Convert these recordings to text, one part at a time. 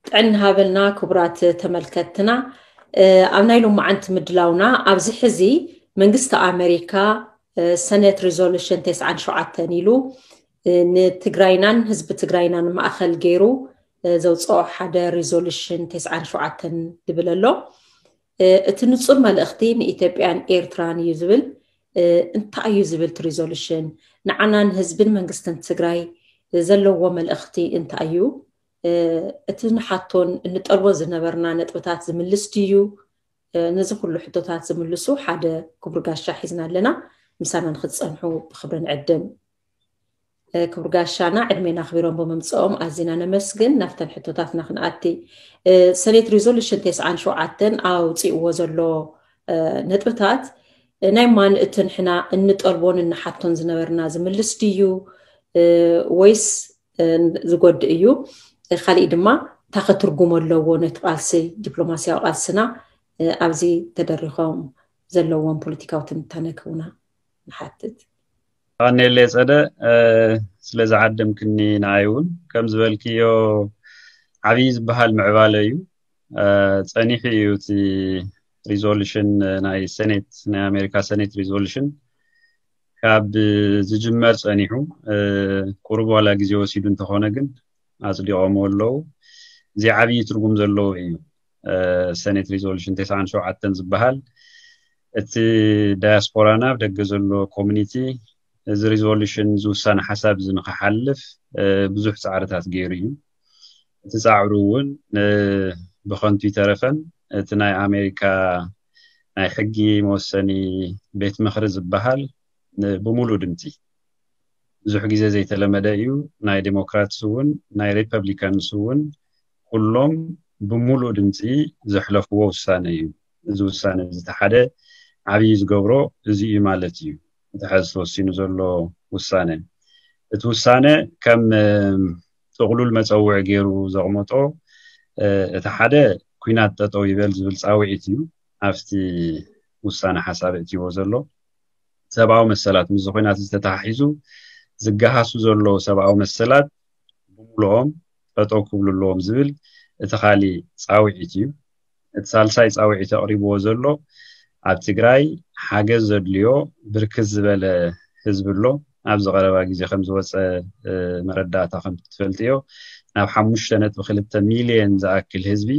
ጥዕና ሃበልና ክቡራት ተመልከትትና። ኣብ ናይ ሎማዓንቲ ምድላውና ኣብዚ ሕዚ መንግስቲ ኣመሪካ ሰነት ሪዞሉሽን ተስዓን ሸውዓተን ኢሉ ንትግራይናን ህዝቢ ትግራይናን ማእኸል ገይሩ ዘውፅኦ ሓደ ሪዞሉሽን ተስዓን ሸውዓተን ዝብል ኣሎ። እቲ ንፁር መልእኽቲ ንኢትዮጵያን ኤርትራን እዩ ዝብል። እንታይ እዩ ዝብል እቲ ሪዞሉሽን? ንዓናን ህዝብን መንግስትን ትግራይ ዘለዎ መልእኽቲ እንታይ እዩ? እቲ ንሓቶን እንጠልቦ ዝነበርና ነጥብታት ዝምልስ ድዩ? ነዚ ኩሉ ሕቶታት ዝምልሱ ሓደ ክቡር ጋሻ ሒዝና ኣለና። ምሳና ንክትፀንሑ ብክብሪ ንዕድም። ክቡር ጋሻና ዕድሜና ኣኽቢሮም ብምምፅኦም ኣዚና ነመስግን። ናብተን ሕቶታትና ክንኣቲ። ሰኔት ሪዞሉሽን ተስዓን ሸውዓተን ኣውፅእዎ ዘሎ ነጥብታት ናይ ማን እቲ ንሕና እንጠልቦን እንሓቶን ዝነበርና ዝምልስ ድዩ ወይስ ዝጎድእ እዩ? ካሊእ ድማ እንታይ ከ ትርጉም ኣለዎ ነቲ ቃልሲ ዲፕሎማስያዊ ቃልስና ኣብዚ ተደሪኾም ዘለዎም ፖለቲካዊ ትንታነ ክህቡና ንሓትት። ኣኔሌ ጸደ ስለ ዝዓደምክኒ ንዓይ እውን ከም ዝበልክዮ ዓብዪ ዝበሃል ምዕባለ እዩ። ጸኒሑ እዩ እቲ ሪዞሉሽን ናይ ሰኔት ናይ ኣሜሪካ ሰኔት ሪዞሉሽን ካብ ዝጅመር ጸኒሑ ቁሩብ ዋላ ግዜ ወሲዱ እንተኾነ ግን ኣጽዲቖምዎ ኣለዉ። እዚ ዓብዪ ትርጉም ዘለዎ እዩ። ሰኔት ሪዞሉሽን ተስዓን ሸውዓተን ዝበሃል እቲ ዳያስፖራና ኣብ ደገ ዘሎ ኮሚኒቲ እዚ ሪዞሉሽን ዝውሳነ ሓሳብ እዚ ንክሓልፍ ብዙሕ ፃዕርታት ገይሩ እዩ። እቲ ፃዕሩ እውን ብኸንቱ ይተረፈን እቲ ናይ ኣሜሪካ ናይ ሕጊ መወሰኒ ቤት ምኽሪ ዝበሃል ብሙሉእ ድምፂ ብዙሕ ግዜ ዘይተለመደ እዩ። ናይ ዴሞክራትስ እውን ናይ ሪፐብሊካንስ እውን ኩሎም ብሙሉእ ድምፂ ዘሕለፍዎ ውሳነ እዩ። እዚ ውሳነ እዚ እቲ ሓደ ዓብዪ ዝገብሮ እዚ እዩ ማለት እዩ። እቲ ሕዚ ተወሲኑ ዘሎ ውሳነ እቲ ውሳነ ከም ጥቕሉል መፀውዒ ገይሩ ዘቕመጦ እቲ ሓደ ኩናት ጠጠው ይበል ዝብል ፃውዒት እዩ ኣብቲ ውሳነ ሓሳብ እትይዎ ዘሎ። ሰብኣዊ መሰላት ምስ ኩናት ዝተተሓሒዙ ዝገሃሱ ዘለዉ ሰብኣዊ መሰላት ብምሉኦም ጠጠው ክብሉ ኣለዎም ዝብል እቲ ካሊእ ፃውዒት እዩ። እቲ ሳልሳይ ፃውዒት ኣቕሪብዎ ዘሎ ኣብ ትግራይ ሓገዝ ዘድልዮ ብርክት ዝበለ ህዝቢ ኣሎ። ኣብዚ ቀረባ ግዜ ከም ዝወፀ መረዳእታ ከም ትፈልጥዮ ናብ ሓሙሽተ ነጥቢ ክልተ ሚልዮን ዝኣክል ህዝቢ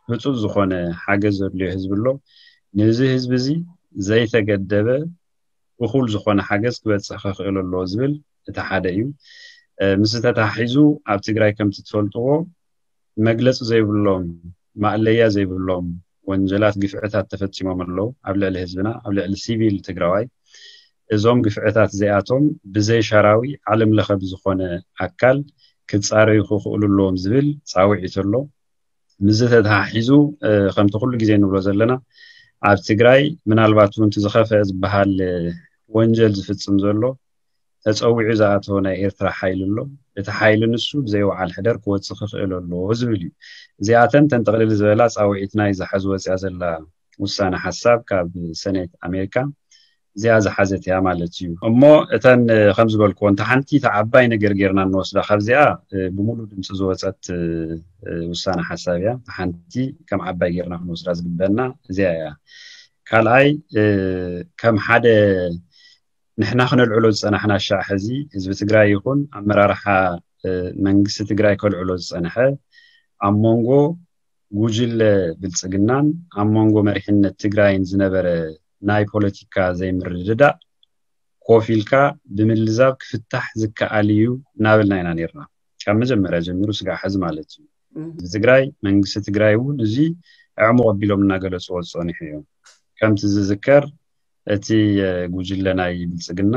ህፁፅ ዝኾነ ሓገዝ ዘድልዮ ህዝቢ ኣሎ። ነዚ ህዝቢ እዚ ዘይተገደበ እኹል ዝኾነ ሓገዝ ክበፅሕ ክኽእል ኣለዎ ዝብል እቲ ሓደ እዩ። ምስ ተታሒዙ ኣብ ትግራይ ከምቲ ትፈልጥዎ መግለፂ ዘይብሎም ማእለያ ዘይብሎም ወንጀላት ግፍዕታት ተፈፂሞም ኣለዉ ኣብ ልዕሊ ህዝብና ኣብ ልዕሊ ሲቪል ትግራዋይ። እዞም ግፍዕታት እዚኣቶም ብዘይ ሻራዊ ዓለም ለኸ ብዝኾነ ኣካል ክፃረዩ ክኽእሉ ኣለዎም ዝብል ፃውዒት ኣሎ። ምስዚ ተተሓሒዙ ከምቲ ኩሉ ግዜ ንብሎ ዘለና ኣብ ትግራይ ምናልባት እውን ዝኸፈ ዝበሃል ወንጀል ዝፍፅም ዘሎ ተፀዊዑ ዝኣተወ ናይ ኤርትራ ሓይሊ ኣሎ። እቲ ሓይሊ ንሱ ብዘይወዓል ሕደር ክወፅእ ክኽእል ኣለዎ ዝብል እዩ። እዚኣተን ተንጠቕልል ዝበላ ፃውዒትና እዩ ዝሓዝ ወፅያ ዘላ ውሳነ ሓሳብ ካብ ሰኔት ኣሜሪካ እዚኣ ዝሓዘት እያ ማለት እዩ። እሞ እተን ከም ዝበልክዎ እንተ ሓንቲ እታ ዓባይ ነገር ጌርና እንወስዳ ካብዚኣ ብሙሉ ድምፂ ዝወፀት ውሳነ ሓሳብ እያ። ሓንቲ ከም ዓባይ ጌርና ክንወስዳ ዝግበና እዚኣ እያ። ካልኣይ ከም ሓደ ንሕና ክነልዕሎ ዝፀናሕና ሻዕ ሕዚ ህዝቢ ትግራይ ይኹን ኣመራርሓ መንግስቲ ትግራይ ከልዕሎ ዝፀንሐ ኣብ መንጎ ጉጅለ ብልፅግናን ኣብ መንጎ መሪሕነት ትግራይን ዝነበረ ናይ ፖለቲካ ዘይምርድዳእ ኮፍ ኢልካ ብምልዛብ ክፍታሕ ዝከኣል እዩ እናበልና ኢና ነርና ካብ መጀመርያ ጀሚሩ ስጋዕ ሕዚ ማለት እዩ። ህዝቢ ትግራይ መንግስቲ ትግራይ እውን እዚ ዕሙቕ ኣቢሎም እናገለፅዎ ዝፀኒሑ እዮም። ከምቲ ዝዝከር እቲ ጉጅለ ናይ ብልፅግና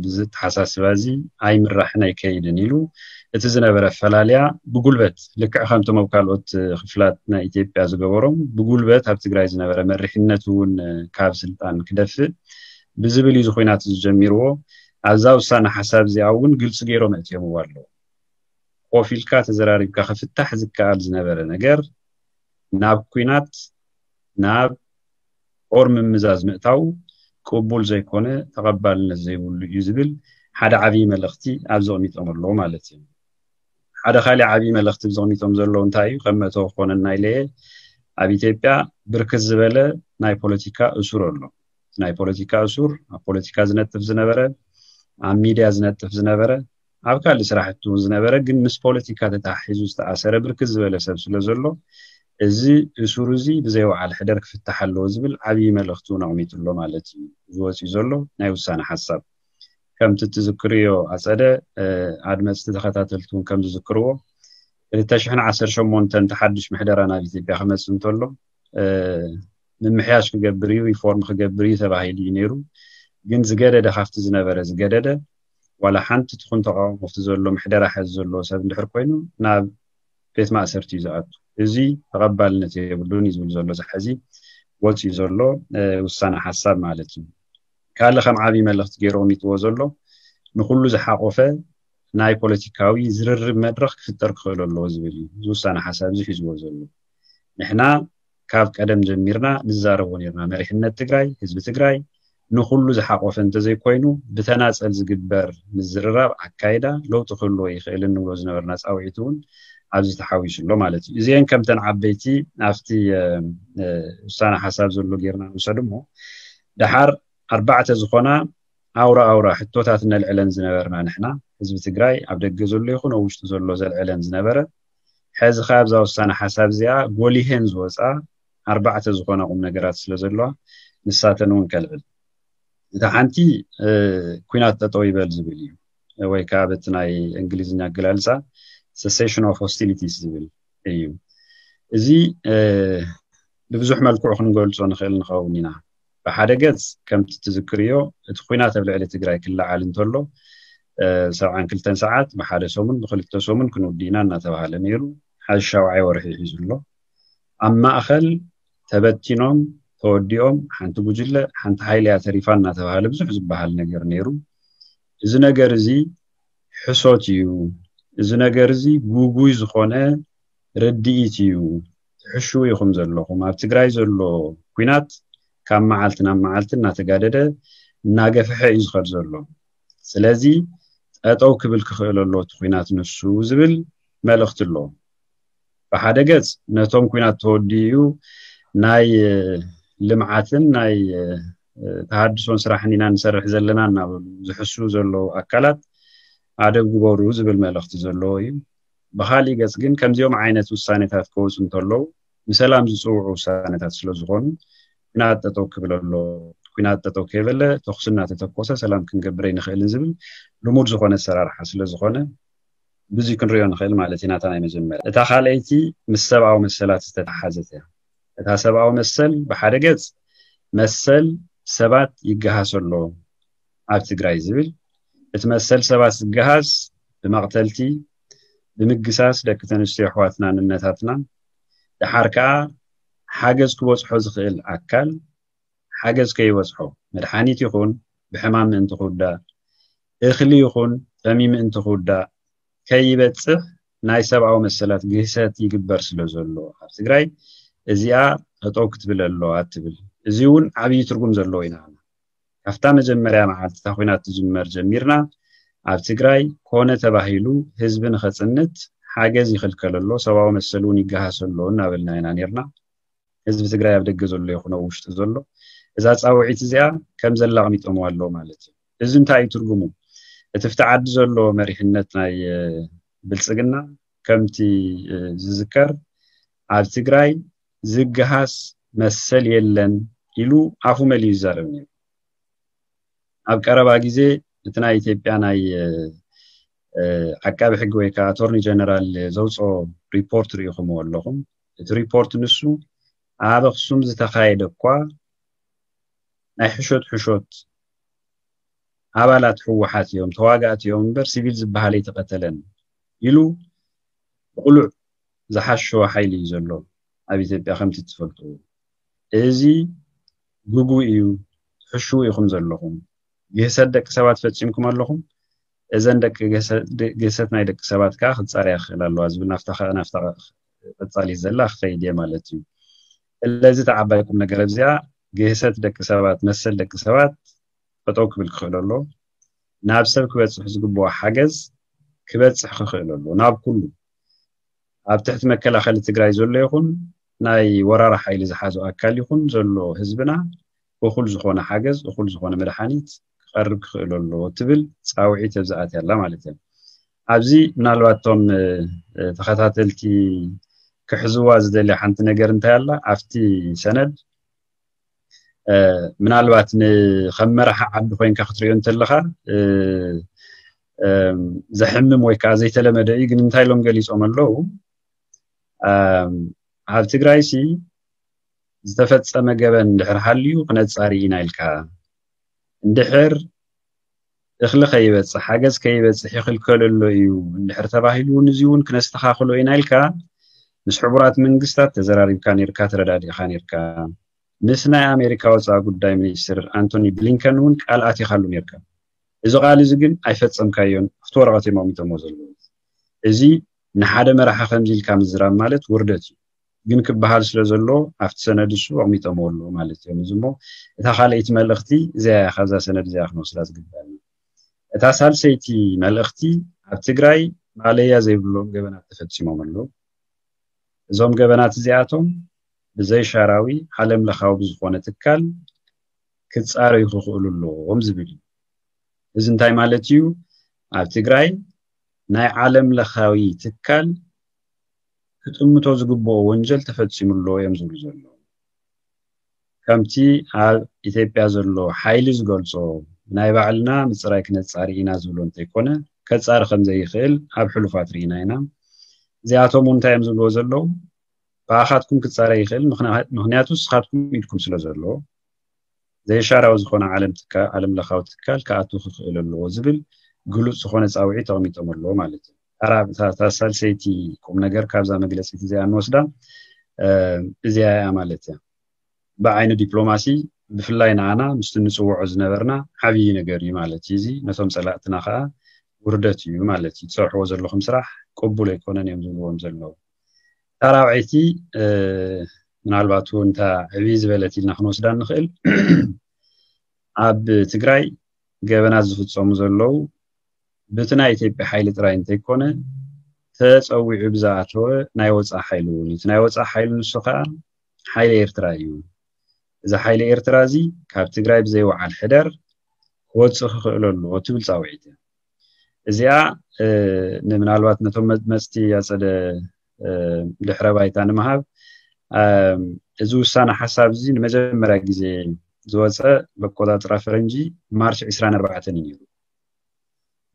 ብዚ ተሓሳስባ እዚ ኣይምራሕን ኣይከይድን ኢሉ እቲ ዝነበረ ኣፈላልያ ብጉልበት ልክዕ ከምቶም ኣብ ካልኦት ክፍላት ናይ ኢትዮጵያ ዝገበሮም ብጉልበት ኣብ ትግራይ ዝነበረ መሪሕነት እውን ካብ ስልጣን ክደፍእ ብዝብል እዩ እዚ ኩናት እዚ ጀሚርዎ። ኣብዛ ውሳነ ሓሳብ እዚኣ እውን ግልፂ ገይሮም ኣእትዮምዎ ኣለዉ። ኮፍ ኢልካ ተዘራሪብካ ክፍታሕ ዝከኣል ዝነበረ ነገር ናብ ኩናት ናብ ጦር ምምዛዝ ምእታው ቅቡል ዘይኮነ ተቐባልነት ዘይብሉ እዩ ዝብል ሓደ ዓብዪ መልእኽቲ ኣብዚ ኣቕሚጦም ኣለዉ ማለት እዩ። ሓደ ካሊእ ዓብዪ መልእኽቲ ብዘቕሚጦም ዘለዉ እንታይ እዩ? ከም መእተዊ ክኾነና ኢለ እየ፣ ኣብ ኢትዮጵያ ብርክት ዝበለ ናይ ፖለቲካ እሱር ኣሎ። ናይ ፖለቲካ እሱር፣ ኣብ ፖለቲካ ዝነጥፍ ዝነበረ፣ ኣብ ሚድያ ዝነጥፍ ዝነበረ፣ ኣብ ካልእ ስራሕቲ እውን ዝነበረ ግን ምስ ፖለቲካ ተተሓሒዙ ዝተኣሰረ ብርክት ዝበለ ሰብ ስለ ዘሎ፣ እዚ እሱር እዚ ብዘይ ወዓል ሕደር ክፍታሕ ኣለዎ ዝብል ዓብዪ መልእኽቲ እውን ኣቕሚጡ ኣሎ ማለት እዩ። ዝወፅእ ዘሎ ናይ ውሳነ ሓሳብ ከምቲ ትዝክርዮ ኣፀደ፣ ኣድመፅቲ ተኸታተልቲ እውን ከም ዝዝክርዎ፣ ክልተ ሽሕን ዓሰርተ ሸሞንተን ተሓድሽ ምሕደራ ናብ ኢትዮጵያ ክመፅእ እንተሎ፣ ምምሕያሽ ክገብር እዩ፣ ሪፎርም ክገብር እዩ ተባሂሉ እዩ ነይሩ። ግን ዝገደደ፣ ካብቲ ዝነበረ ዝገደደ፣ ዋላ ሓንቲ ትኹን ተቃውሞ ኣብቲ ዘሎ ምሕደራ ሕዚ ዘለዎ ሰብ እንድሕር ኮይኑ ናብ ቤት ማእሰርቲ እዩ ዝኣቱ። እዚ ተቐባልነት የብሉን እዩ ዝብል ዘሎ እዚ ሕዚ ወፅዩ ዘሎ ውሳነ ሓሳብ ማለት እዩ። ካልእ ከም ዓብዪ መልእኽቲ ገይሩ ኣቕሚጥዎ ዘሎ ንኩሉ ዝሓቆፈ ናይ ፖለቲካዊ ዝርርብ መድረኽ ክፍጠር ክኽእል ኣለዎ ዝብል እዩ። እዚ ውሳነ ሓሳብ እዚ ሒዝዎ ዘሎ ንሕና ካብ ቀደም ጀሚርና ንዛረቦ ነርና። መሪሕነት ትግራይ፣ ህዝቢ ትግራይ ንኩሉ ዝሓቆፈ እንተዘይኮይኑ ብተናፀል ዝግበር ምዝርራብ ኣካይዳ ለውጢ ክህልዎ ይኽእል እንብሎ ዝነበርና ፃውዒት እውን ኣብዚ ተሓዊሱ ኣሎ ማለት እዩ። እዚአን ከምተን ዓበይቲ ኣብቲ ውሳነ ሓሳብ ዘሎ ጌርና ንውሰድ እሞ፣ ደሓር ኣርባዕተ ዝኾና ኣውራ ኣውራ ሕቶታት ነልዕለን ዝነበርና ንሕና ህዝቢ ትግራይ፣ ኣብ ደገ ዘሎ ይኹን ኣብ ውሽጢ ዘሎ ዘልዕለን ዝነበረ፣ ሕዚ ከ ኣብዛ ውሳነ ሓሳብ እዚኣ ጎሊሄን ዝወፃ ኣርባዕተ ዝኾና ቁም ነገራት ስለ ዘለዋ ንሳተን እውን ከልዕል። እታ ሓንቲ ኩናት ጠጠው ይበል ዝብል እዩ፣ ወይ ከዓ በቲ ናይ እንግሊዝኛ ኣገላልፃ cessation of hostilities ዝብል እዩ። እዚ ብብዙሕ መልክዑ ክንገልፆ ንኽእል ንኸውን ኢና። ብሓደ ገፅ ከምቲ ትዝክርዮ እቲ ኩናት ኣብ ልዕሊ ትግራይ ክለዓል እንተሎ ሰብዓን ክልተን ሰዓት ብሓደ ሰሙን ብክልተ ሰሙን ክንውዲ ኢና እናተባሃለ ነይሩ። ሓዚ ሻውዓይ ወርሒ ሒዙ ኣሎ። ኣብ ማእኸል ተበቲኖም ተወዲኦም ሓንቲ ጉጅለ ሓንቲ ሓይሊ እያ ተሪፋ እናተባሃለ ብዙሕ ዝበሃል ነገር ነይሩ። እዚ ነገር እዚ ሕሶት እዩ። እዚ ነገር እዚ ጉጉይ ዝኾነ ርድኢት እዩ። ትሕሽው ኢኹም ዘለኹም። ኣብ ትግራይ ዘሎ ኩናት ካብ መዓልቲ ናብ መዓልቲ እናተጋደደ እናገፍሐ እዩ ዝኸድ ዘሎ። ስለዚ ጠጠው ክብል ክኽእል ኣሎ እቲ ኩናት ንሱ ዝብል መልእኽቲ ኣሎ። ብሓደ ገጽ ነቶም ኩናት ተወዲኡ ናይ ልምዓትን ናይ ተሃድሶን ስራሕን ኢና ንሰርሕ ዘለና እናበሉ ዝሕሱ ዘለዉ ኣካላት ኣደብ ግበሩ ዝብል መልእኽቲ ዘለዎ እዩ። ብኻሊእ ገጽ ግን ከምዚኦም ዓይነት ውሳኔታት ክወፁ እንተለዉ ንሰላም ዝፅውዑ ውሳኔታት ስለ ዝኾኑ ኩናት ጠጠው ክብል ኣሎ። ኩናት ጠጠው ከይበለ ተኹሲ እናተተኮሰ ሰላም ክንገብር ኣይንኽእልን ዝብል ልሙድ ዝኾነ ኣሰራርሓ ስለ ዝኾነ ብዙይ ክንሪኦ ንኽእል ማለት ኢና። እታ ናይ መጀመርያ። እታ ካልኣይቲ ምስ ሰብኣዊ መሰላት ዝተተሓዘት እያ። እታ ሰብኣዊ መሰል ብሓደ ገጽ መሰል ሰባት ይገሃስ ኣሎ ኣብ ትግራይ ዝብል፣ እቲ መሰል ሰባት ዝገሃስ ብመቕተልቲ፣ ብምግሳስ ደቂ ተንስትዮ ኣሕዋትና ንነታትና፣ ደሓር ከኣ ሓገዝ ክበጽሖ ዝኽእል ኣካል ሓገዝ ከይበጽሖ፣ መድሓኒት ይኹን ብሕማም ምእንቲ ክውዳእ፣ እኽሊ ይኹን ጠሚ ምእንቲ ክውዳእ ከይበጽሕ ናይ ሰብኣዊ መሰላት ግህሰት ይግበር ስለ ዘሎ ኣብ ትግራይ እዚኣ ጠጠው ክትብል ኣለዋ ትብል። እዚ እውን ዓብዪ ትርጉም ዘለዎ ኢና። ካብታ መጀመርያ መዓልቲ እታ ኩናት ትጅመር ጀሚርና ኣብ ትግራይ ኮነ ተባሂሉ ህዝቢ ንኸጽንት ሓገዝ ይኽልከል ኣሎ፣ ሰብኣዊ መሰል እውን ይገሃስ ኣሎ እናበልና ኢና ነርና። ህዝቢ ትግራይ ኣብ ደገ ዘሎ ይኹን ኣብ ውሽጢ ዘሎ እዛ ፃውዒት እዚኣ ከም ዘላ ኣቕሚጦምዋ ኣለዉ ማለት እዩ። እዚ እንታይ እዩ ትርጉሙ? እቲ ፍቲ ዓዲ ዘሎ መሪሕነት ናይ ብልፅግና ከምቲ ዝዝከር ኣብ ትግራይ ዝገሃስ መሰል የለን ኢሉ ኣፉ መሊኡ ይዛረብ ነይሩ። ኣብ ቀረባ ግዜ እቲ ናይ ኢትዮጵያ ናይ ዓቃቢ ሕጊ ወይ ከዓ ኣቶርኒ ጀነራል ዘውፅኦ ሪፖርት ርኢኹምዎ ኣለኹም። እቲ ሪፖርት ንሱ ኣብ ኣኽሱም ዝተኻየደ እኳ ናይ ሕሾት ሕሾት ኣባላት ህወሓት እዮም፣ ተዋጋእቲ እዮም እምበር ሲቪል ዝበሃል ኣይተቐተለን ኢሉ ብቕሉዕ ዝሓሸወ ሓይሊ እዩ ዘሎ ኣብ ኢትዮጵያ ከምቲ ትፈልጡ። እዚ ግጉ እዩ፣ ትሕሽው ኢኹም ዘለኹም። ግህሰት ደቂ ሰባት ፈፂምኩም ኣለኹም። እዘን ደቂ ግህሰት ናይ ደቂ ሰባት ከዓ ክፃርያ ክኽእል ኣለዋ ዝብል ናፍታ ናፍታ ቀፃሊ ዘላ ክኸይድ እየ ማለት እዩ። ስለዚ እቲ ዓባይ ቁም ነገር ኣብዚኣ ግህሰት ደቂ ሰባት መሰል ደቂ ሰባት ጠጠው ክብል ክኽእል ኣሎ። ናብ ሰብ ክበፅሕ ዝግብኦ ሓገዝ ክበፅሕ ክኽእል ኣለዎ ናብ ኩሉ ኣብ ትሕቲ መከላኸሊ ትግራይ ዘሎ ይኹን ናይ ወራር ሓይሊ ዝሓዞ ኣካል ይኹን ዘሎ ህዝብና እኹል ዝኾነ ሓገዝ እኹል ዝኾነ መድሓኒት ክቐርብ ክኽእል ኣለዎ ትብል ፃውዒት ኣብዚኣት ያላ ማለት እዩ። ኣብዚ ምናልባት እቶም ተኸታተልቲ ክሕዝዋ ዝደልያ ሓንቲ ነገር እንታይ ኣላ ኣብቲ ሰነድ ምናልባት ንከም መራሒ ዓዲ ኮይንካ ክትሪኦ እንተለካ ዘሕምም ወይ ከዓ ዘይተለመደ እዩ። ግን እንታይ ኢሎም ገሊፆም ኣለዉ? ኣብ ትግራይ ሲ ዝተፈፀመ ገበን እንድሕር ሃልዩ ክነፃሪ ኢና ኢልካ እንድሕር እኽሊ ከይበፅሕ ሓገዝ ከይበፅሕ ይኽልከል ኣሎ እዩ እንድሕር ተባሂሉ እውን እዚ እውን ክነስተኻኽሎ ኢና ኢልካ ምስ ሕቡራት መንግስታት ተዘራሪብካ ነርካ፣ ተረዳዲእካ ነርካ። ምስ ናይ ኣሜሪካ ወፃኢ ጉዳይ ሚኒስትር ኣንቶኒ ብሊንከን እውን ቃል ኣቲኻሉ ነርካ። እዚ ቃል እዚ ግን ኣይፈፀምካዮን ኣብቲ ወረቐት እዮም ኣቕሚጦሞ ዘለዉ። እዚ ንሓደ መራሒ ከምዚ ኢልካ ምዝራብ ማለት ውርደት እዩ። ግን ክበሃል ስለ ዘሎ ኣብቲ ሰነድ እሱ ኣቕሚጦሞ ኣለዉ ማለት እዮም። እዚ እሞ እታ ካልኣይቲ መልእኽቲ እዚኣ እያ ካብዛ ሰነድ እዚኣ ክንወስዳ ዝግበኣና። እታ ሳልሰይቲ መልእኽቲ ኣብ ትግራይ ማለያ ዘይብሎም ገበናት ተፈፂሞም ኣለዉ። እዞም ገበናት እዚኣቶም ብዘይሻራዊ ዓለም ለኻዊ ብዝኾነ ትካል ክፃረዩ ክኽእሉ ኣለዎም ዝብል እዩ። እዚ እንታይ ማለት እዩ? ኣብ ትግራይ ናይ ዓለም ለኻዊ ትካል ክጥምቶ ዝግብኦ ወንጀል ተፈፂሙ ኣሎ እዮም ዝብሉ ዘለዉ። ከምቲ ኣብ ኢትዮጵያ ዘሎ ሓይሊ ዝገልፆ ናይ ባዕልና ምፅራይ ክነፃሪ ኢና ዝብሎ እንተይኮነ ከፃሪ ከም ዘይኽእል ኣብ ሕሉፋት ርኢና ኢና። እዚኣቶም እውን እንታይ እዮም ዝብልዎ ዘለዉ? ብኣኻትኩም ክፃረ ይኽእል፣ ምኽንያቱ ንስኻትኩም ኢድኩም ስለ ዘሎ ዘይሻራዊ ዝኾነ ዓለም ትካ ዓለም ለኻዊ ትካል ክኣቱ ክኽእል ኣለዎ ዝብል ግሉፅ ዝኾነ ፃውዒት ተቐሚጦም ኣለዎ ማለት እዩ። ታራ ሳልሰይቲ ቁም ነገር ካብዛ መግለፂት እዚኣ እንወስዳ እዚኣ እያ ማለት እያ። ብዓይኒ ዲፕሎማሲ ብፍላይ ንዓና ምስቲ ንፅውዖ ዝነበርና ዓብዪ ነገር እዩ ማለት እዩ። እዚ ነቶም ፀላእትና ከዓ ውርደት እዩ ማለት እዩ። ትሰርሕዎ ዘለኹም ስራሕ ቅቡል ኣይኮነን እዮም ዝብልዎም ዘለዉ። ታራብዐይቲ ምናልባት እውን እታ ዕብይ ዝበለት ኢልና ክንወስዳ እንኽእል ኣብ ትግራይ ገበናት ዝፍፀሙ ዘለዉ ብቲ ናይ ኢትዮጵያ ሓይሊ ጥራይ እንተይኮነ ተፀዊዑ ብዝኣተወ ናይ ወፃኢ ሓይሊ እውን እዩ። እቲ ናይ ወፃኢ ሓይሊ ንሱ ከዓ ሓይሊ ኤርትራ እዩ። እዚ ሓይሊ ኤርትራ እዚ ካብ ትግራይ ብዘይወዓል ሕደር ክወፅእ ክኽእል ኣለዎ ትብል ፃውዒት እያ። እዚኣ ንምናልባት ነቶም መፅቲ ኣፀደ ድሕረ ባይታ ንምሃብ እዚ ውሳነ ሓሳብ እዚ ንመጀመርያ ግዜ ዝወፀ በቆጣጥራ ፈረንጂ ማርች ዕስራን ኣርባዕተን እዩ ነይሩ።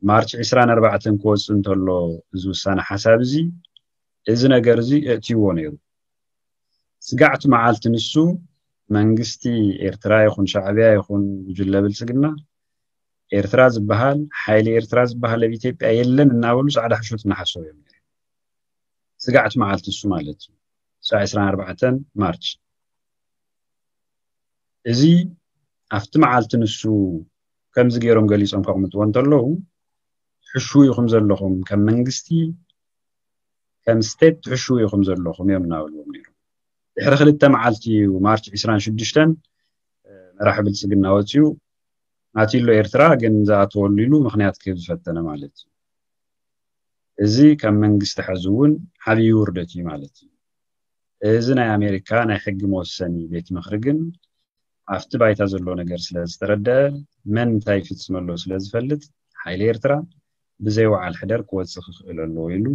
ማርች ዕስራን ኣርባዕተን ክወፅእ እንተሎ እዚ ውሳነ ሓሳብ እዚ እዚ ነገር እዚ እእትይዎ ነይሩ። ስጋዕቲ መዓልቲ ንሱ መንግስቲ ኤርትራ ይኹን ሻዕብያ ይኹን ጉጅለ ብልፅግና ኤርትራ ዝበሃል ሓይሊ ኤርትራ ዝበሃል ኣብ ኢትዮጵያ የለን እናበሉ ፃዕዳ ሕሾት እናሓሰቡ እዮም ነይሮም። ስጋዕቲ መዓልቲ እሱ ማለት እዩ። ሳዕ ዕስራን ኣርባዕተን ማርች እዚ ኣብቲ መዓልቲ ንሱ ከምዚ ገይሮም ገሊፆም ከቕምጥዎ እንተለዉ ትሕሽዉ ኢኹም ዘለኹም ከም መንግስቲ ከም ስቴት ትሕሽዉ ኢኹም ዘለኹም እዮም እናበልዎም ነይሮም። ድሕሪ ክልተ መዓልቲ እዩ ማርች ዕስራን ሽዱሽተን መራሒ ብልፅግና ወፂኡ ኣትዩ ኣሎ ኤርትራ ግን ዝኣተወሉ ኢሉ ምኽንያት ክህብ ዝፈተነ ማለት እዩ። እዚ ከም መንግስቲ ሕዚ እውን ዓብዪ ውርደት እዩ ማለት እዩ። እዚ ናይ ኣሜሪካ ናይ ሕጊ መወሰኒ ቤት ምኽሪ ግን ኣብቲ ባይታ ዘሎ ነገር ስለ ዝተረደአ መን እንታይ ይፍፅም ኣሎ ስለ ዝፈልጥ ሓይሊ ኤርትራ ብዘይ ወዓል ሕደር ክወፅእ ክኽእል ኣለዎ ኢሉ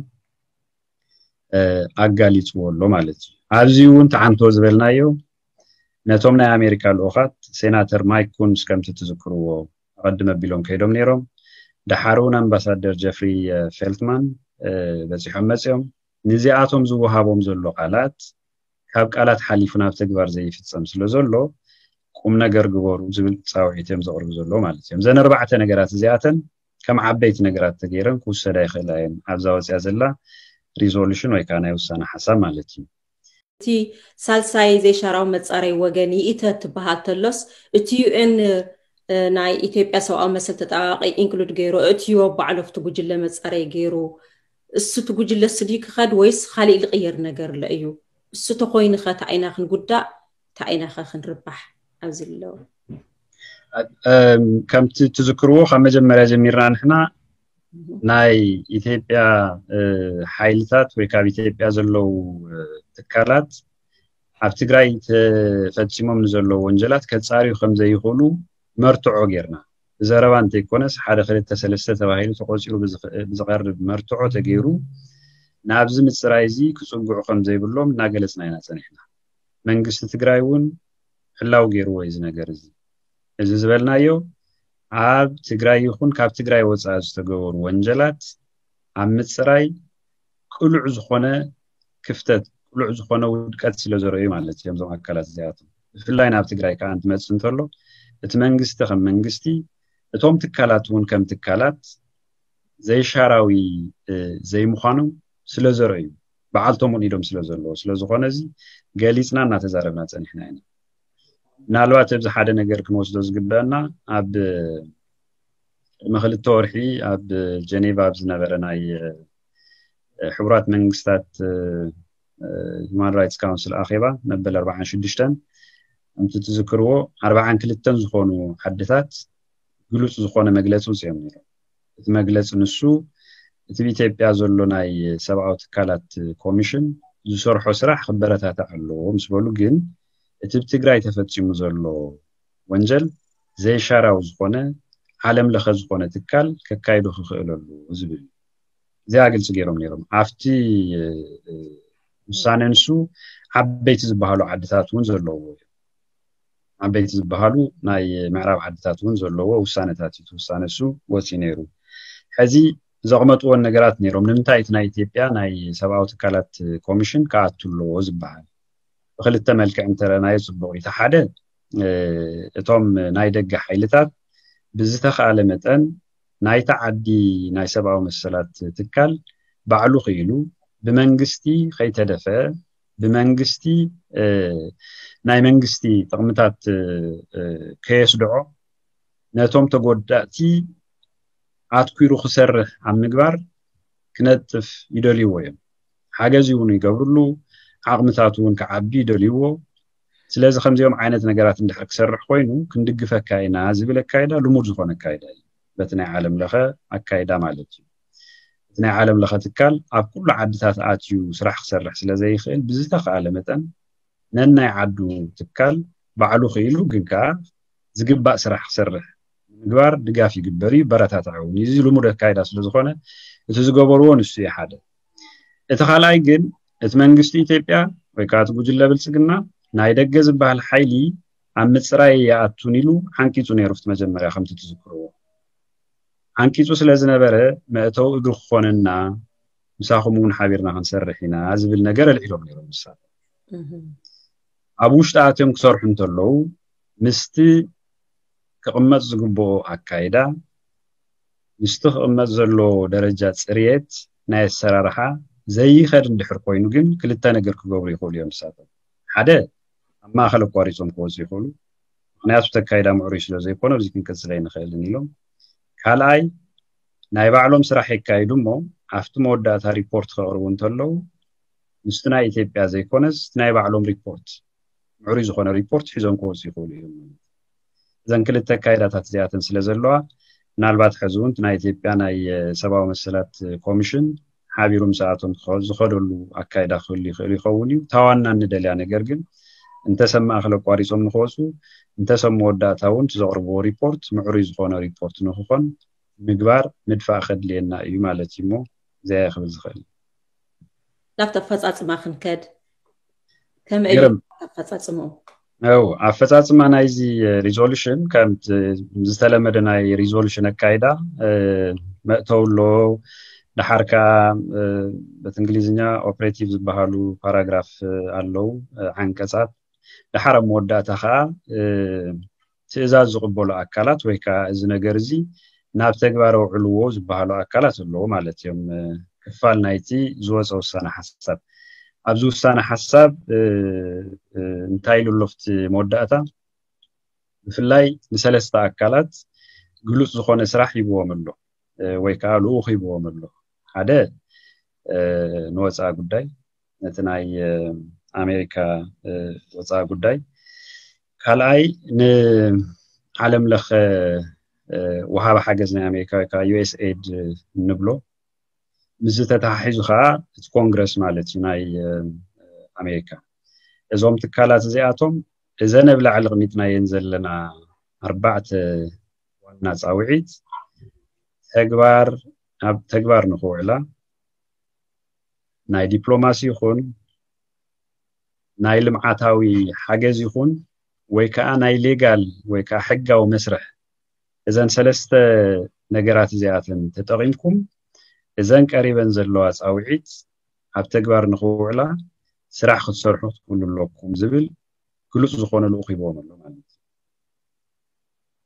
ኣጋሊፅዎ ኣሎ ማለት እዩ። ኣብዚ እውን ተዓንቶ ዝበልናዮ ነቶም ናይ ኣሜሪካ ልኡኻት ሴናተር ማይክ ኩንስ ከምቲ ትዝክርዎ ኣቐድም ኣቢሎም ከይዶም ነይሮም። ደሓር እውን ኣምባሳደር ጀፍሪ ፌልትማን በፂሖም መፅኦም። ንዚኣቶም ዝወሃቦም ዘሎ ቃላት ካብ ቃላት ሓሊፉ ናብ ተግባር ዘይፍፀም ስለ ዘሎ ቁም ነገር ግበሩ ዝብል ፃውዒት እዮም ዘቕርቡ ዘለዉ ማለት እዮም። እዘን ኣርባዕተ ነገራት እዚኣተን ከም ዓበይቲ ነገራት ተገይረን ክውሰዳ ይኽእላ እየን ኣብዛ ወፅያ ዘላ ሪዞሉሽን ወይ ከዓ ናይ ውሳነ ሓሳብ ማለት እዩ። እቲ ሳልሳይ ዘይሻራዊ መፃረይ ወገን ይእተ ትበሃል ተሎስ እቲ ዩኤን ናይ ኢትዮጵያ ሰብኣዊ መሰል ተጣባቂ ኢንክሉድ ገይሩ እእትዮ ባዕሉ ኣብቲ ጉጅለ መፃረይ ገይሩ እሱ እቲ ጉጅለ ስዲ ክኸድ ወይስ ካሊእ ዝቕየር ነገር ኣሎ እዩ? እሱ ተኮይኑ ኸ ተኣይና ክንጉዳእ ተኣይና ኸ ክንርባሕ ኣብዚ ኣለዉ? ከምቲ ትዝክርዎ ካብ መጀመርያ ጀሚርና ንሕና ናይ ኢትዮጵያ ሓይልታት ወይ ካብ ኢትዮጵያ ዘለዉ ትካላት ኣብ ትግራይ ተፈፂሞም ንዘለዉ ወንጀላት ከፃርዩ ከም ዘይኽእሉ መርትዖ ጌርና፣ ብዘረባ እንተይኮነስ ሓደ ክልተ ሰለስተ ተባሂሉ ተቆፂሩ ብዝቐርብ መርትዖ ተገይሩ ናብዚ ምፅራይ እዚ ክፅግዑ ከም ዘይብሎም እናገለፅና ኢና ፀኒሕና። መንግስቲ ትግራይ እውን ሕላው ገይርዎ እዩ እዚ ነገር እዚ። እዚ ዝበልናዮ ኣብ ትግራይ ይኹን ካብ ትግራይ ወፃኢ ዝተገበሩ ወንጀላት ኣብ ምፅራይ ቅሉዕ ዝኾነ ክፍተት፣ ቅሉዕ ዝኾነ ውድቀት ስለ ዘርእዩ ማለት እዮም እዞም ኣካላት እዚኣቶም። ብፍላይ ናብ ትግራይ ከዓ እንትመፅእ እንተሎ እቲ መንግስቲ ከም መንግስቲ፣ እቶም ትካላት እውን ከም ትካላት ዘይሻራዊ ዘይምዃኖም ስለ ዘርእዩ፣ በዓልቶም እውን ኢዶም ስለ ዘለዎ፣ ስለ ዝኾነ እዚ ገሊፅና እናተዛረብና ፀኒሕና ኢና። ምናልባት ኣብዚ ሓደ ነገር ክንወስዶ ዝግበአና ኣብ ቅድሚ ክልተ ወርሒ ኣብ ጀኔቫ ኣብ ዝነበረ ናይ ሕቡራት መንግስታት ሁማን ራይትስ ካውንስል ኣኼባ መበል ኣርባዓን ሽዱሽተን ከምቲ ትዝክርዎ ኣርባዓን ክልተን ዝኾኑ ዓድታት ግሉፅ ዝኾነ መግለፂ ውፅኦም ነይሮም። እቲ መግለፂ ንሱ እቲ ብኢትዮጵያ ዘሎ ናይ ሰብኣዊ ትካላት ኮሚሽን ዝሰርሖ ስራሕ ክበረታታዕ ኣለዎ ምስ በሉ፣ ግን እቲ ብትግራይ ተፈፂሙ ዘሎ ወንጀል ዘይሻራዊ ዝኾነ ዓለም ለኸ ዝኾነ ትካል ከካይዶ ክኽእል ኣለዎ ዝብል እዩ። እዚኣ ግልፂ ገይሮም ነይሮም። ኣብቲ ውሳነ ንሱ ዓበይቲ ዝበሃሉ ዓድታት እውን ዘለዎ እዩ። ዓበይቲ ዝበሃሉ ናይ ምዕራብ ዓድታት እውን ዘለዎ ውሳነታት እዩ። እቲ ውሳነ እሱ ወፂኡ ነይሩ። ሕዚ ዘቕመጥዎን ነገራት ነይሮም። ንምንታይ እቲ ናይ ኢትዮጵያ ናይ ሰብኣዊ ትካላት ኮሚሽን ክኣቱ ኣለዎ ዝበሃል? ብክልተ መልክዕ እንተረናዮ ፅቡቕ እዩ። እቲ ሓደ እቶም ናይ ደገ ሓይልታት ብዝተኻለ መጠን ናይታ ዓዲ ናይ ሰብኣዊ መሰላት ትካል ባዕሉ ክኢሉ ብመንግስቲ ከይተደፈ ብመንግስቲ ናይ መንግስቲ ጥቕምታት ከየስድዖ ነቶም ተጎዳእቲ ኣትኲሩ ክሰርሕ ኣብ ምግባር ክነጥፍ ይደልይዎ እዮም። ሓገዝ እውን ይገብርሉ፣ ዓቕምታት እውን ክዓቢ ይደልይዎ። ስለዚ ከምዚኦም ዓይነት ነገራት እንድሕር ክሰርሕ ኮይኑ ክንድግፈካ ኢና ዝብል ኣካይዳ ልሙድ ዝኾነ ኣካይዳ እዩ። በቲ ናይ ዓለም ለኸ ኣካይዳ ማለት እዩ። እቲ ናይ ዓለም ለኸ ትካል ኣብ ኩሉ ዓድታት ኣትዩ ስራሕ ክሰርሕ ስለ ዘይኽእል ብዝተኻለ መጠን ነናይ ዓዱ ትካል ባዕሉ ክኢሉ ግን ከዓ ዝግባእ ስራሕ ክሰርሕ ንምግባር ድጋፍ ይግበር እዩ፣ ይበረታታዕ እውን እዩ። እዚ ልሙድ ኣካይዳ ስለ ዝኾነ እቲ ዝገበርዎ ንሱ እዩ ሓደ። እቲ ካልኣይ ግን እቲ መንግስቲ ኢትዮጵያ ወይ ከዓ እቲ ጉጅለ ብልፅግና ናይ ደገ ዝበሃል ሓይሊ ኣብ ምፅራይ ይኣቱን ኢሉ ዓንቂፁ ነይሩ። ኣብቲ መጀመርያ ከምቲ ትዝክርዎ ዓንቂፁ ስለ ዝነበረ መእተዊ እግሪ ክኾነና ምሳኹም እውን ሓቢርና ክንሰርሕ ኢና ዝብል ነገር ኣልዒሎም ነይሮም ንሳቶም። ኣብ ውሽጢ ኣትዮም ክሰርሑ እንተለዉ ምስቲ ክቕመጥ ዝግብኦ ኣካይዳ ምስቲ ክቕመጥ ዘለዎ ደረጃ ፅርየት ናይ ኣሰራርሓ ዘይኸድ እንድሕር ኮይኑ ግን ክልተ ነገር ክገብሩ ይኽእሉ እዮም ንሳቶም። ሓደ ኣብ ማእኸል ኣቋሪፆም ክወፁ ይኽእሉ። ምክንያቱ ተካይዳ ምዕሩይ ስለ ዘይኮነ ኣብዚ ክንቅፅል ኣይንኽእልን ኢሎም። ካልኣይ ናይ ባዕሎም ስራሕ የካይዱ እሞ ኣብቲ መወዳእታ ሪፖርት ከቕርቡ እንተለዉ ምስቲ ናይ ኢትዮጵያ ዘይኮነስ ናይ ባዕሎም ሪፖርት ምዕሩይ ዝኾነ ሪፖርት ሒዞም ክወፁ ይኽእሉ እዮም። እዘን ክልተ ኣካይዳታት እዚኣተን ስለ ዘለዋ ምናልባት ሕዚ እውን ናይ ኢትዮጵያ ናይ ሰብኣዊ መሰላት ኮሚሽን ሓቢሩ ምስኣቶም ዝኸደሉ ኣካይዳ ክህሉ ይኽእል ይኸውን እዩ። ታዋና እንደልያ ነገር ግን እንተሰብ ማእኸል ኣቋሪፆም ንክወፁ እንተሰብ መወዳእታ እውን ዘቕርብዎ ሪፖርት ምዕሩይ ዝኾነ ሪፖርት ንክኾን ምግባር ምድፋእ ከድልየና እዩ ማለት እዩ። እሞ እዚኣ ክብል ዝኽእል ናብቲ ኣፈፃፅማ ክንከድ ከመይ ኣፈፃፅምኡ ው ኣፈፃፅማ ናይዚ ሪዞሉሽን ከም ዝተለመደ ናይ ሪዞሉሽን ኣካይዳ መእተው ኣሎ። ደሓር ከዓ በቲ እንግሊዝኛ ኦፕሬቲቭ ዝበሃሉ ፓራግራፍ ኣለዉ፣ ዓንቀፃት። ደሓር ኣብ መወዳእታ ከዓ ትእዛዝ ዝቕበሉ ኣካላት ወይ ከዓ እዚ ነገር እዚ ናብ ተግባር ኣውዕልዎ ዝበሃሉ ኣካላት ኣለዉ ማለት እዮም። ክፋል ናይቲ ዝወፀ ውሳነ ሓሳብ ኣብዚ ውሳነ ሓሳብ እንታይ ኢሉ ኣሎ ኣብቲ መወዳእታ ብፍላይ ንሰለስተ ኣካላት ግሉፅ ዝኾነ ስራሕ ሂብዎም ኣሎ ወይ ከዓ ልኡኽ ሂብዎም ኣሎ። ሓደ ንወፃኢ ጉዳይ ነቲ ናይ ኣሜሪካ ወፃኢ ጉዳይ፣ ካልኣይ ንዓለም ለኸ ወሃቢ ሓገዝ ናይ ኣሜሪካ ወይ ከዓ ዩ ኤስ ኤድ እንብሎ፣ ምስዚ ተተሓሒዙ ከዓ እቲ ኮንግረስ ማለት እዩ ናይ ኣሜሪካ። እዞም ትካላት እዚኣቶም እዘን ኣብ ላዕሊ ኣቕሚጥናየን ዘለና ኣርባዕተ ዋና ፃውዒት ተግባር ኣብ ተግባር ንክውዕላ ናይ ዲፕሎማሲ ይኹን ናይ ልምዓታዊ ሓገዝ ይኹን ወይ ከዓ ናይ ሌጋል ወይ ከዓ ሕጋዊ መስርሕ እዘን ሰለስተ ነገራት እዚኣተን ተጠቒምኩም እዘን ቀሪበን ዘለዋ ፃውዒት ኣብ ተግባር ንክውዕላ ስራሕ ክትሰርሑ ክትክእሉ ኣለኩም ዝብል ግሉፅ ዝኾነ ልኡኽ ሂቦም ኣሎ ማለት እዩ።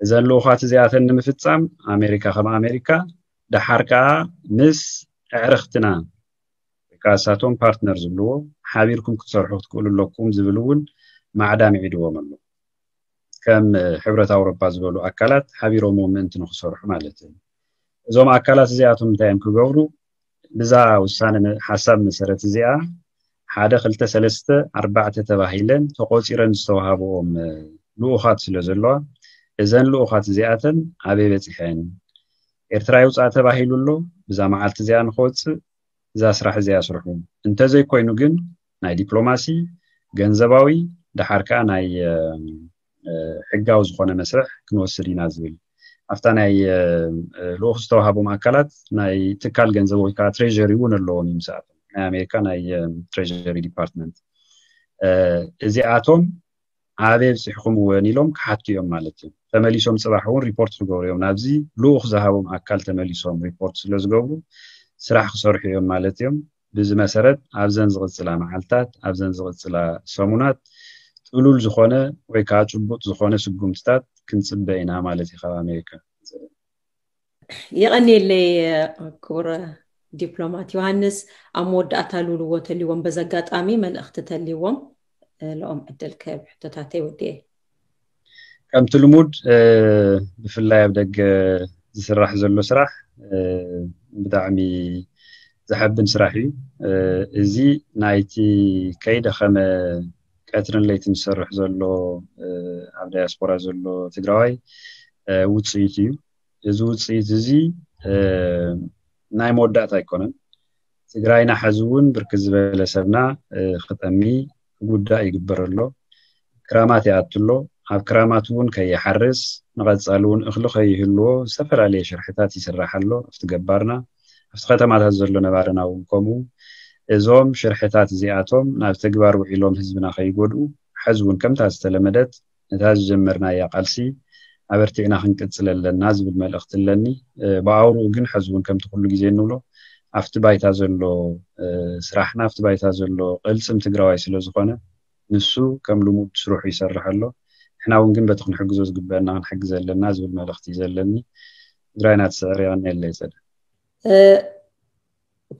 እዘን ልኡኻት እዚኣተን ንምፍፃም ኣሜሪካ ከም ኣሜሪካ ደሓር ከዓ ምስ ኣዕርኽትና ወይ ከዓ እሳቶም ፓርትነር ዝብልዎ ሓቢርኩም ክትሰርሑ ክትክእሉ ኣለኩም ዝብል እውን ማዕዳ ምዒድዎም ኣሎ። ከም ሕብረት ኣውሮፓ ዝበሉ ኣካላት ሓቢሮም ምእንቲ ንክሰርሑ ማለት እዩ። እዞም ኣካላት እዚኣቶም እንታይ እዮም ክገብሩ? ብዛ ውሳነ ሓሳብ መሰረት እዚኣ ሓደ ክልተ ሰለስተ ኣርባዕተ ተባሂለን ተቆፂረን ዝተዋሃብኦም ልኡኻት ስለ ዘለዋ እዘን ልኡኻት እዚኣተን ኣበይ በፂሐን? ኤርትራ ይውፃእ ተባሂሉ ኣሎ። ብዛ መዓልቲ እዚኣ ንክወፅእ እዛ ስራሕ እዚኣ ስርሑ። እንተዘይኮይኑ ግን ናይ ዲፕሎማሲ፣ ገንዘባዊ፣ ደሓር ከዓ ናይ ሕጋዊ ዝኾነ መስርሕ ክንወስድ ኢና ዝብል ኣብታ ናይ ልኡኽ ዝተዋሃቦም ኣካላት ናይ ትካል ገንዘብ ወይ ከዓ ትሬሪ እውን ኣለዎም እዩ። ምስኣቶም ናይ ኣሜሪካ ናይ ትሬሪ ዲፓርትመንት እዚኣቶም ኣበይ ኣብፂሕኹም እውን ኢሎም ክሓቱ እዮም ማለት እዩ። ተመሊሶም ፅባሕ እውን ሪፖርት ክገብሩ እዮም ናብዚ ልኡኽ ዝሃቦም ኣካል ተመሊሶም ሪፖርት ስለ ዝገብሩ ስራሕ ክሰርሑ እዮም ማለት እዮም። ብዚ መሰረት ኣብዘን ዝቕፅላ መዓልታት ኣብዘን ዝቕፅላ ሰሙናት ጥሉል ዝኾነ ወይ ከዓ ጭቡጥ ዝኾነ ስጉምትታት ክንፅበ ኢና ማለት እዩ ካብ ኣሜሪካ። የቐንየለይ ክቡር ዲፕሎማት ዮሃንስ። ኣብ መወዳእታ ልብልዎ ተልዎም በዚ ኣጋጣሚ መልእኽቲ ተልዎም ልኦም ዕድል ክህብ ሕቶታተይ ወዲኤ። ከምቲ ልሙድ ብፍላይ ኣብ ደገ ዝስራሕ ዘሎ ስራሕ ብጣዕሚ ዘሐብን ስራሕ እዩ። እዚ ናይቲ ከይደኸመ ቀትርን ለይትን ዝሰርሕ ዘሎ ኣብ ዳያስፖራ ዘሎ ትግራዋይ ውፅኢት እዩ። እዚ ውፅኢት እዚ ናይ መወዳእታ ኣይኮነን። ትግራይና ሕዚ እውን ብርክት ዝበለ ሰብና ክጠሚ ክጉዳእ ይግበር ኣሎ። ክራማት ይኣቱ ኣሎ። ኣብ ክራማት እውን ከይሓርስ ንቐፃሊ እውን እኽሊ ከይህልዎ ዝተፈላለየ ሽርሕታት ይስራሕ ኣሎ። ኣብቲ ገባርና ኣብቲ ከተማታት ዘሎ ነባርና እውን ከምኡ። እዞም ሽርሕታት እዚኣቶም ናብ ተግባር ውዒሎም ህዝብና ከይጎድኡ ሕዚ እውን ከምታ ዝተለመደት ነታ ዝጀመርናያ ቃልሲ ኣበርቲዕና ክንቅፅል ኣለና ዝብል መልእኽቲ ኣለኒ። ብኣውርኡ ግን ሕዚ እውን ከምቲ ኩሉ ግዜ እንብሎ ኣብቲ ባይታ ዘሎ ስራሕና ኣብቲ ባይታ ዘሎ ቅልፅም ትግራዋይ ስለ ዝኾነ ንሱ ከም ልሙድ ስርሑ ይሰርሕ ኣሎ። ንሕና እውን ግን በቲ ክንሕግዞ ዝግበአና ክንሕግዝ ኣለና ዝብል መልእኽቲ እዩ ዘለኒ። ትግራይና ትስዕር። የቐንየለይ ፀደ።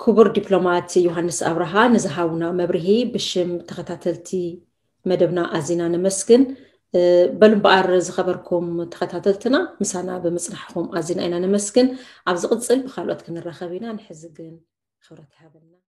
ክቡር ዲፕሎማት ዮሃንስ ኣብርሃ ንዝሃቡና መብርሂ ብሽም ተኸታተልቲ መደብና ኣዚና ነመስግን። በሉ እምበኣር ዝኸበርኩም ተኸታተልትና ምሳና ብምፅናሕኹም ኣዚና ኢና ነመስግን። ኣብ ዝቕፅል ብካልኦት ክንራኸብ ኢና። ንሕዚ ግን ክብረት ይሃበልና።